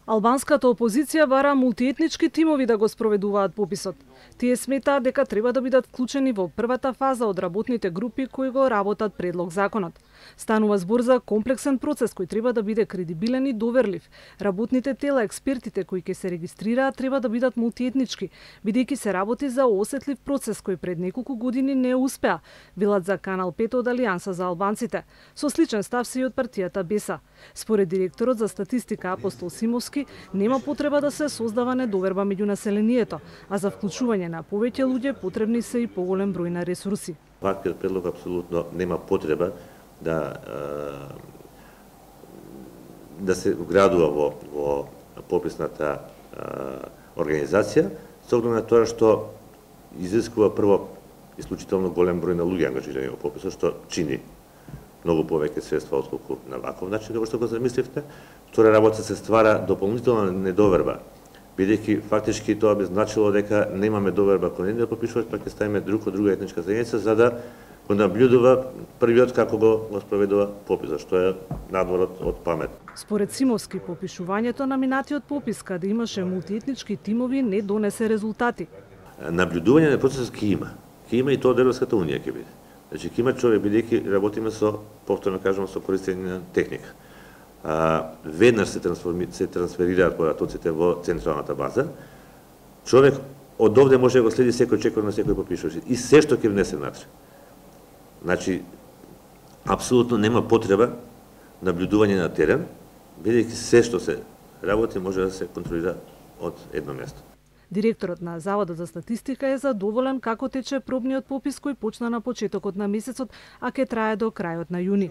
Албанската опозиција бара мултиетнички тимови да го спроведуваат пописот. Тие сметаат дека треба да бидат вклучени во првата фаза од работните групи кои го работат предлог законот. Станува збор за комплексен процес кој треба да биде кредибилен и доверлив. Работните тела, експертите кои ќе се регистрираат треба да бидат мултиетнички, бидејќи се работи за осетлив процес кој пред неколку години не успеа, велат за Канал 5 од Алијанса за албанците. Со сличен став се и од партијата БЕСА. Според директорот за статистика Апостол Симовски, нема потреба да се создава недоверба меѓу населението, а за вклучување на повеќе луѓе потребни се и поголем број на ресурси. Ваквиот предлог апсолутно нема потреба да се вградува во пописната организација, со оглед на тоа што изискува прво исклучително голем број на луѓе ангажирани во пописот, што чини многу повеќе средства отколку на ваков начин како што го замисливте. Втора работа се ствара дополнителна недоверба, бидејќи фактички тоа би значило дека немаме доверба кон едни да попишуваат, па ќе ставиме друга етничка заедница за да го наблюдува првиот како го спроведува пописот, што е надвор од памет. Според Симовски, попишувањето на минатиот попис, каде имаше мултиетнички тимови, не донесе резултати. Наблюдување на процесот ќе има. Ќе има и тоа од Европската унија ќе биде. Значи ќе има човек, бидејќи работиме со, повторно кажам, со користење на техника. Веднаш се трансферираат податоците во централната база. Човек од овде може да го следи секој чекор на секој попишувач и се што ќе внесе внатре. Значи, апсолутно нема потреба наблюдување на терен, бидејќи се што се работи може да се контролира од едно место. Директорот на Заводот за статистика е задоволен како тече пробниот попис кој почна на почетокот на месецот, а ќе трае до крајот на јуни.